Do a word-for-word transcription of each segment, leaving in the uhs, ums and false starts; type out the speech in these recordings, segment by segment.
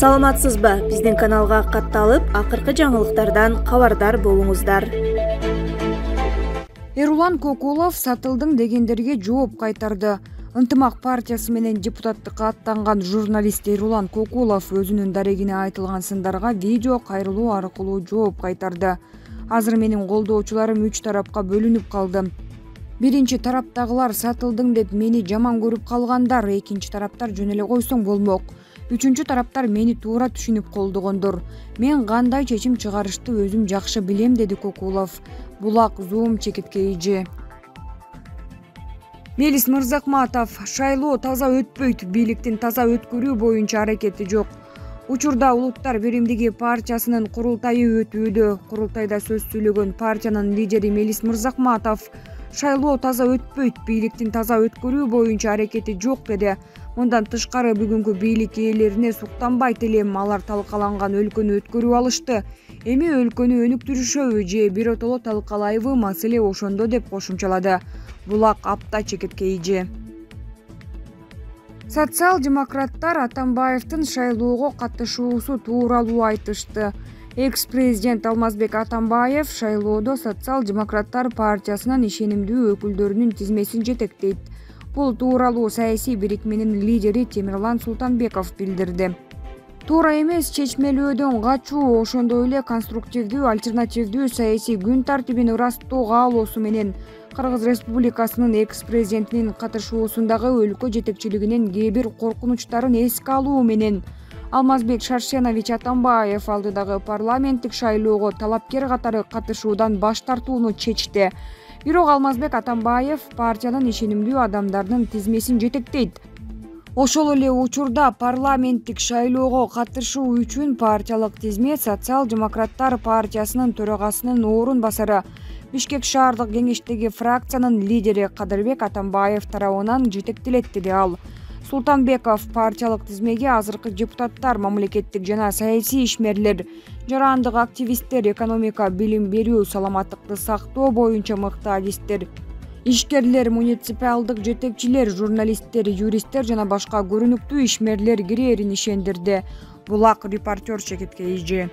Саламатсызбы? Биздин каналга катталып, акыркы жаңылыктардан кабардар болуңуздар. Эрулан Кокулов сатылдың дегендерге жооп кайтарды. Ынтымак партиясы менен депутаттыкка аттанган журналист Эрулан Кокулов өзүнүн дарегине айтылган сындарга видео кайрылуу аркылуу жооп кайтарды. Азыр менин колдоочуларым үч тарапка бөлүнүп калды. Биринчи тараптагылар сатылдың деп мени жаман көрүп калгандар, экинчи тараптар жөн эле койсоң болмок. Үчүнчү тараптар мени туура түшүнүп колдогондор. Мен кандай чечим чыгарышты өзүм жакшы билем, деди Кокулов. Булак Зум чекиткейжи. Мелис Мырзакматов: шайлоо таза өтпөйт, бийликтин таза өткөрүү боюнча аракети жок. Учурда Улуттар биримдиги партиясынын курултайы өтүүдө. Курултайда сөз сүйлөгөн партиянын лидери Мелис Мырзакматов шайлоо таза өтпөйт, бийликтин таза өткөрүү боюнча аракети жок деди. Мындан тышкары бүгүнкү бийлик ээлерине суктанбайт элем, алар талкаланган өлкөнү өткөрүп алышты. Эми өлкөнү өнүктүрүшөбү же биротоло талкалайбы, маселе ошондо, деп кошумчалады. Булак Апта чекиткейжи. Социал-демократтар Атамбаевдин шайлоого катышуусу тууралуу айтышты. Экс-президент Алмазбек Атамбаев шайлоодо Социал-демократтар партиясынын ишенимдүү өкүлдөрүнүн тизмесин жетектейт. Бул тууралуу саясий бирикменин лидери Темирлан Султанбеков билдирди. Туура эмес чечмелөөдөн качуу, ошондой эле конструктивдүү, альтернативдүү саясий күн тартибин ырастоо каалоосу менен Кыргыз Республикасынын экс-президентинин катышуусундагы өлкө жетекчилигинин кээ бир коркунучтарын эске алуу менен Алмазбек Шаршенович Атамбаев алдыдагы парламенттик шайлоого талапкер катары катышуудан баш тартууну чечти. Бирок Алмазбек Атамбаев партиянын ишенимдүү адамдарынын тизмесин жетектейт. Ошол эле учурда парламенттик шайлоого катышуу үчүн партиялык тизме Социал-демократтар партиясынын төрагасынын орун басары, Бишкек шаардык кеңештеги фракциянын лидери Кадырбек Атамбаев тарабынан жетектелет, деди ал. Султанбеков партиялык тизмеге азыркы депутаттар, мамлекеттик жана саясий ишмерлер, жарандык активисттер, экономика, билим берүү, саламаттыкты сактоо боюнча мыкты адистер, ишкерлер, муниципалдык жетекчилер, журналисттер, юристтер жана башка көрүнүктүү ишмерлер кирээрин ишендирди. Булак репортер чекиткейжи.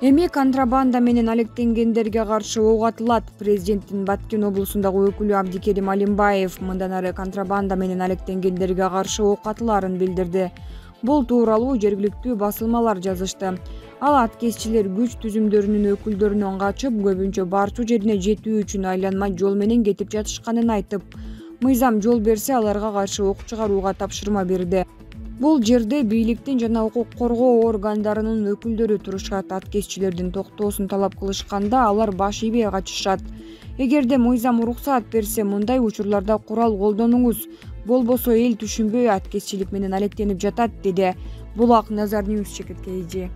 Эми контрабанда менен алектенгендерге каршы ок атылат. Президенттин Баткен облусундагы өкүлү Абдикерим Алимбаев мындан ары контрабанда менен алектенгендерге каршы ок атылаарын билдирди. Бул тууралуу жергиликтүү басылмалар жазышты. Ал аткезчилер күч түзүмдөрүнүн өкүлдөрүнөн качып, көбүнчө барчу жерине жетүү үчүн айланма жол менен кетип жатышканын айтып, мыйзам жол берсе аларга каршы ок чыгарууга тапшырма берди. Бул жерде бийликтин жана укук коргоо органдарынын өкүлдөрү турушат. Аткезчилердин токтоосун талап кылышканда алар баш ийбей качышат. Эгерде мыйзам уруксаат берсе, мындай учурларда курал колдонуңуз, болбосо эл түшүнбөй аткезчилик менен алектенип жатат, деди. Булак Назар Ньюс чекиткейжи.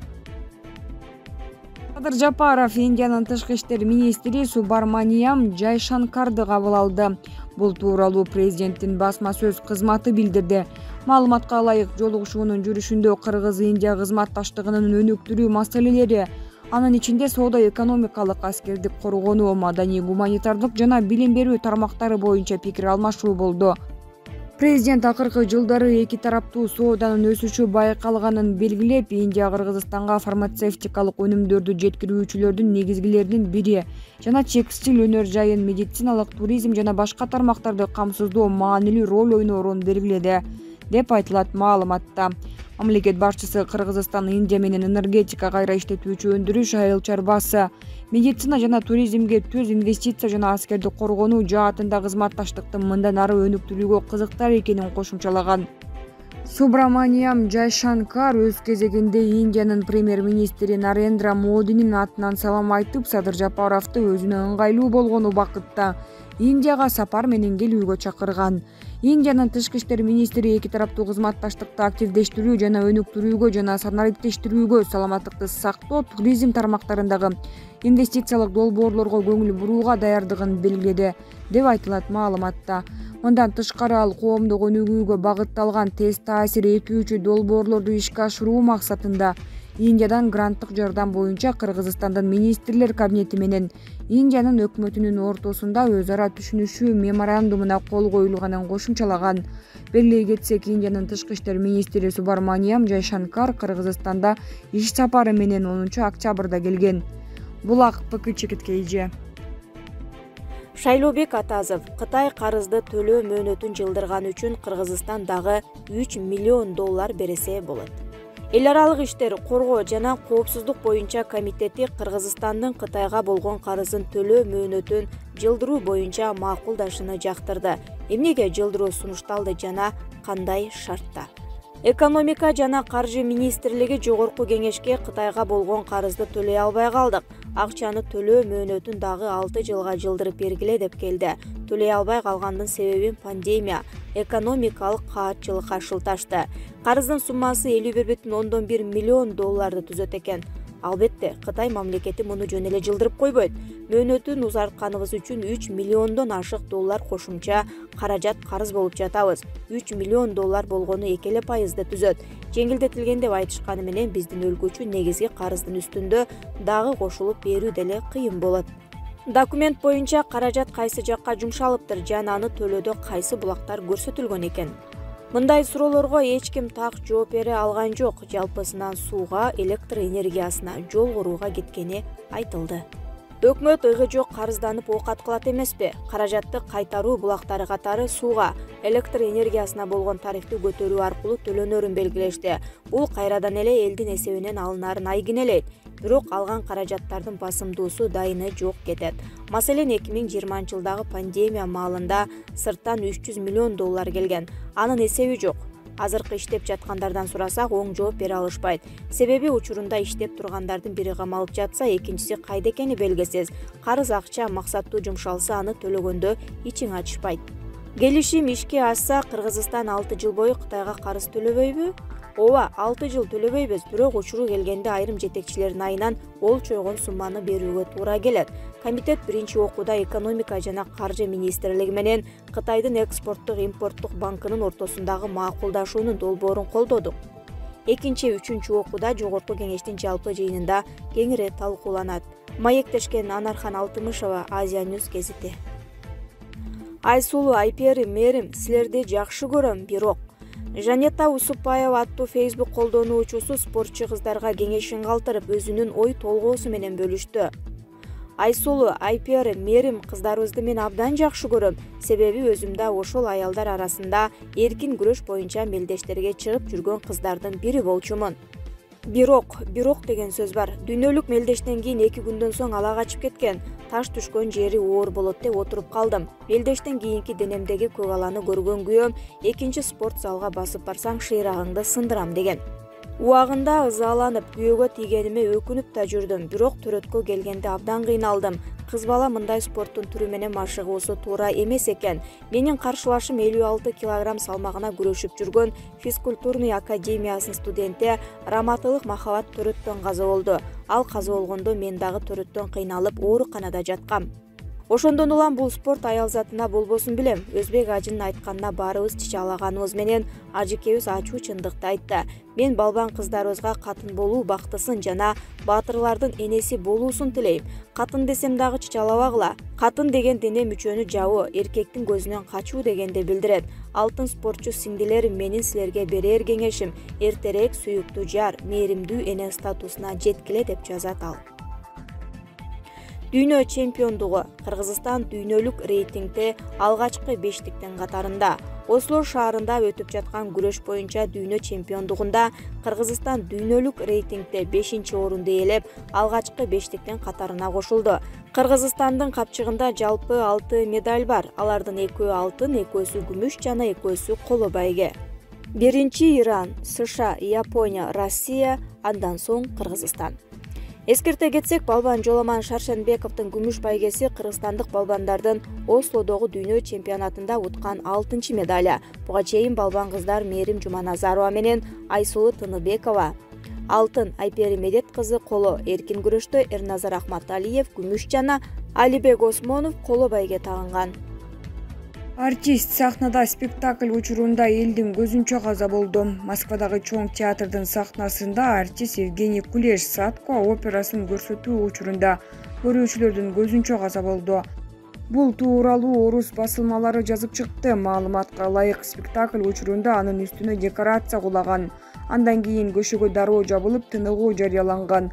Садыр Жапаров Индиянын тышкы иштер министри Субраманиям Джайшанкарды кабыл алды. Бул тууралуу президенттин басма сөз кызматы билдирди. Маалыматка ылайык, жолугушуунун жүрүшүндө Кыргыз-Индия кызматташтыгынын өнүктүрүү маселелери, анын ичинде соода-экономикалык, аскердик коргонуу, маданий, гуманитардык жана билим берүү тармактары боюнча пикир алмашуу болду. Президент акыркы жылдары эки тараптуу сооданын өсүшү байкалганын белгилеп, Индия Кыргызстанга фармацевтикалык өнүмдөрдү жеткирүүчүлөрдүн негизгилеринин бири жана текстиль өнөр жайын, медициналык, туризм жана башка тармактарды камсыздоо маанилүү роль ойноорун белгиледи, деп айтылат маалыматта. Мамлекет башчысы Кыргызстан Индия менен энергетика, кайра иштетүүчү өндүрүш, айыл чарбасы, медицина жана туризмге төз инвестиция жана аскердик коргонуу жаатында кызматташтыктын мындан ары өнүктүрүүгө кызыктар экенин кошумчалаган. Субраманиям Джайшанкар өз кезегинде Индиянын премьер-министри Нарендра Модинин атынан салам айтып, Садыр Жапаровду өзүнө ыңгайлуу болгон убакытта Индияга сапар менен келүүгө чакырган. Индиянын тышкы иштер министри эки тараптуу кызматташтыкты активдештирүү жана өнүктүрүүгө жана санариптештирүүгө, саламаттыкты сактоо, туризм тармактарындагы инвестициялык долбоорлорго көңүл бурууга даярдыгын белгиледи, деп айтылат маалыматта. Мындан тышкары ал коомдук өнүгүүгө багытталган тез таасир этүүчү долбоорлорду ишке ашыруу максатында Индиядан гранттык жардам боюнча Кыргызстандын министрлер кабинети менен Индиянын өкмөтүнүн ортосунда өз ара түшүнүшүү меморандумуна кол коюлганын кошумчалаган. Белгилей кетсек, Индиянын тышкы иштер министри Субраманиям Джайшанкар Кыргызстанда иш сапары менен онунчу октябрда келген. Булак ПКЧ Кейже. Шайлообек Атазов Кытай карызды төлөө мөөнөтүн жылдырган үчүн Кыргызстан дагы үч миллион доллар бересе болот. Эл аралык иштер, коргоо жана коопсуздук боюнча комитети Кыргызстандын Кытайга болгон карызын төлөө мөөнөтүн жылдыруу боюнча макулдашыны жактырды. Эмнеге жылдыруу сунушталды жана кандай шартта? Экономика жана каржы министрлиги жогорку кеңешке Кытайга болгон карызды төлөй албай калдык. Акчаны төлөө мөөнөтүн дагы алты жылга жылдырып бергиле деп келди. Төлөй албай калгандын себебин пандемия, экономикалык каатчылыкка шылташты. Карыздын суммасы элүү бир бүтүн ондон бир миллион долларды түзөт экен. Албетте, Кытай мамлекети муну жөн эле жылдырып койбойт. Мөөнөтүн узартканыбыз үчүн үч миллиондон ашык доллар кошумча каражат карыз болуп жатабыз. үч миллион доллар болгону эки эле пайызды түзөт. Жеңилдетилген деп айтышканы менен биздин өлкө үчүн негизги карыздын үстүндө дагы кошулуп берүү деле кыйын болот. Документ боюнча каражат кайсы жакка жумшалыптыр жана аны төлөөдө кайсы булактар көрсөтүлгөн экен. Мындай суроолорго эч ким так жооп бере алган жок. Жалпысынан сууга, электр энергиясына, жол курууга кеткени айтылды. Өкмөт ыйгы жок карызданып оокат кылат эмеспи? Каражатты кайтаруу булактары катары сууга, электр энергиясына болгон тарифти көтөрүү аркылуу төлөнөрүн белгилешти. Бул кайрадан эле элдин эсебинен алынаарын айгинелейт. Бирок алган каражаттардын басымдуусу дайыны жок кетет. Маселен, эки миң жыйырманчы жылдагы пандемия маалында сырттан үч жүз миллион доллар келген. Анын эсеби жок. Азыркы иштеп жаткандардан сурасак, оң жооп бере алышпайт. Себеби учурунда иштеп тургандардын бири камалып жатса, экинчиси кайда экени белгисиз. Карыз акча максаттуу жумшалса, аны төлөгөндө ичиң ачышпайт. Келишим ишке ашса, Кыргызстан алты жыл бою Кытайга карыз төлөбөйбү? Ооба, алты жыл төлөбөйбүз, бирок учуру келгенде айрым жетекчилердин айынан ол чойгон сумманы берүүгө туура келет. Комитет биринчи окууда экономика жана каржы министрлиги менен Кытайдын экспорттук импорттук банкынын ортосундагы макулдашуунун долбоорун колдодук. Экинчи, үчүнчү окууда жогорку кеңештин жалпы жыйынында кеңири талкууланат. Маектешкен Анархан Алтымышева, Азия Ньюс гезити. Айсулуу Айперим, мэрим, силерди жакшы көрөм, бирок Жанета Усупаева аттуу Facebook колдонуучусу спортчу кыздарга кеңешин калтырып, өзүнүн ой толгоосу менен бөлүштү. Айсулуу Айперим, мэрим, кыздарыбызды мен абдан жакшы көрөм. Себеби өзүмдө ошол аялдар арасында эркин күрөш боюнча мелдештерге чыгып жүргөн кыздардын бири болчумун. Бирок, бирок деген сөз бар. Дүйнөлүк мелдештен кийин эки күндөн соң ала качып кеткен. Таш түшкөн жери оор болот деп отуруп калдым. Мелдештен кийинки денемдеги көк аланы көргөн күйөөм, экинчи спорт залга басып барсаң шыйрагыңды сындырам деген. Убагында ызаланып, күйөөгө тийгениме өкүнүп да жүрдүм, бирок төрөткө келгенде абдан кыйналдым. Кыз бала мындай спорттун түрү менен машыгуусу туура эмес экен. Менин каршылашым элүү алты килограмм салмагына күрөшүп жүргөн физкультурный академиясынын студенти Раматылык Махабат төрөттөн каза болду. Ал каза болгондо мен дагы төрөттөн кыйналып ооруканада жаткам. Ошондон улам бул спорт аял затына болбосун билем. Өзбек ажынын айтканына баарыбыз чычалаганыбыз менен ажыкебиз ачуу чындыкты айтты. Мен балбан кыздарыбызга катын болуу бактысын жана баатырлардын энеси болуусун тилейм. Катын десем дагы чычалабагыла. Катын деген дене мүчөнү жабуу, эркектин көзүнөн качуу дегенди билдирет. Алтын спортчу сиңдилерим, менин силерге берер кеңешим: эртерээк сүйүктүү жар, мээримдүү эне статусуна жеткиле деп жазат ал. Дүйнө чемпиондугу. Кыргызстан дүйнөлүк рейтингде алгачкы бештиктин катарында. Осло шаарында өтүп жаткан күрөш боюнча дүйнө чемпиондугунда Кыргызстан дүйнөлүк рейтингде бешинчи орунду ээлеп, алгачкы бештиктин катарына кошулду. Кыргызстандын капчыгында жалпы алты медаль бар. Алардын экөө алтын, экөөсү күмүш жана экөөсү коло байге. Биринчи Иран, США, Япония, Россия, андан соң Кыргызстан. Эскерте кетсек, балбан Жоламан Шаршенбековдун күмүш байгеси кыргызстандык балбандардын Ослодогу дүйнө чемпионатында уткан алтынчы медаля. Буга чейин балбан кыздар Мээрим Жуманазарова менен Айсулуу Тыныбекова алтын, Айпери Медет кызы коло, эркин күрөштө Эрназар Ахматалиев күмүш жана Алибек Осмонов коло байге тагынган. Артист сахнада спектакль учурунда элдин көзүнчө каза болду. Москвадагы чоң театрдын сахнасында артист Евгений Кулеш Садко операсын көрсөтүү учурунда көрүүчүлөрдүн көзүнчө каза болду. Бул тууралуу орус басылмалары жазып чыкты. Маалыматка ылайык, спектакль учурунда анын үстүнө декорация кулаган. Андан кийин көшөгө дароо жабылып, тыныгуу жарыяланган.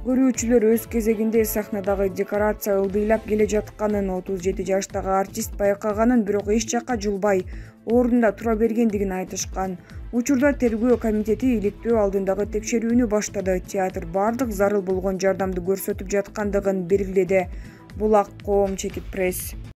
Көрүүчүлөр өз кезегинде сахнадагы декорация ылдыйлап келе жатканын, отуз жети жаштагы артист байкаганын, бирок эч жакка жылбай, ордунда тура бергендигин айтышкан. Учурда тергөө комитети иликтөө алдындагы текшерүүнү баштады. Театр бардык зарыл болгон жардамды көрсөтүп жаткандыгын белгиледи. Булак коом чекит пресс.